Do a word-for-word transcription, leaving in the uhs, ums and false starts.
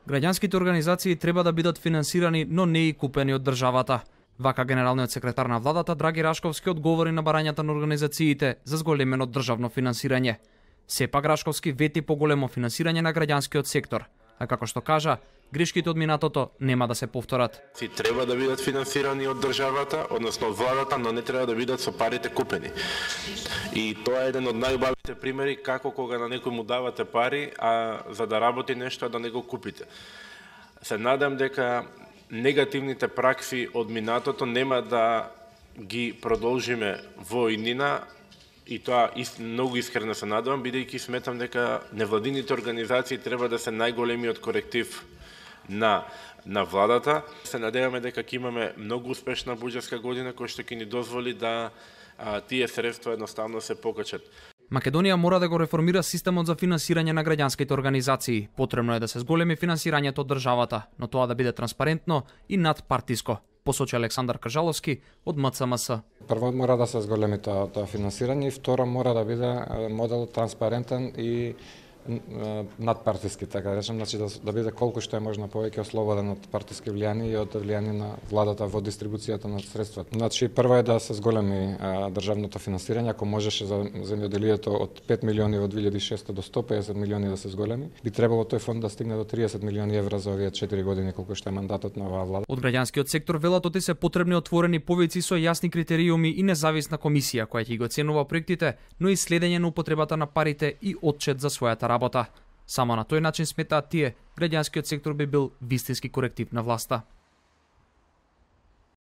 Граѓанските организации треба да бидат финансирани, но не и купени од државата. Вака генералниот секретар на владата Драги Рашковски одговори на барањата на организациите за зголемено државно финансирање. Сепак Рашковски вети поголемо финансирање на граѓанскиот сектор, а како што кажа, грешките од минатото нема да се повторат. Си треба да бидат финансирани од државата, односно од владата, но не треба да бидат со парите купени. И тоа е еден од најубавите примери како кога на некој му давате пари, а за да работи нешто да не го купите. Се надам дека негативните пракси од минатото нема да ги продолжиме во иднина, и тоа многу искрено се надевам, бидејќи сметам дека невладините организации треба да се најголемиот коректив на на владата. Се надеваме дека ќе имаме многу успешна буџетска година која што ќе ни дозволи да а, тие средства едноставно се покачат. Македонија мора да го реформира системот за финансирање на граѓанските организации. Потребно е да се зголеми финансирањето од државата, но тоа да биде транспарентно и надпартиско, посочи Александар Кажаловски од М Ц М С. Прво мора да се зголеми тоа, тоа финансирање и второ мора да биде модел транспарентен и надпартиски, така да речем, значи да, да биде колку што е можно повеќе ослободен од партиски влијани и од влијание на владата во дистрибуцијата на средствата. Значи прво е да се зголеми а, државното финансирање, ако можеше за земјоделието од пет милиони во две илјади и шеста до сто песет милиони да се зголеми, би требало тој фонд да стигне до триесет милиони евра за овие четири години колку што е мандатот на оваа влада. Од граѓанскиот сектор велат оти се потребни отворени повици со јасни критериуми и независна комисија која ќе ги оценува проектите, но и следење на употребата на парите и отчет за својата работа. Само на тој начин сметаат тие, граѓанскиот сектор би бил вистински коректив на власта.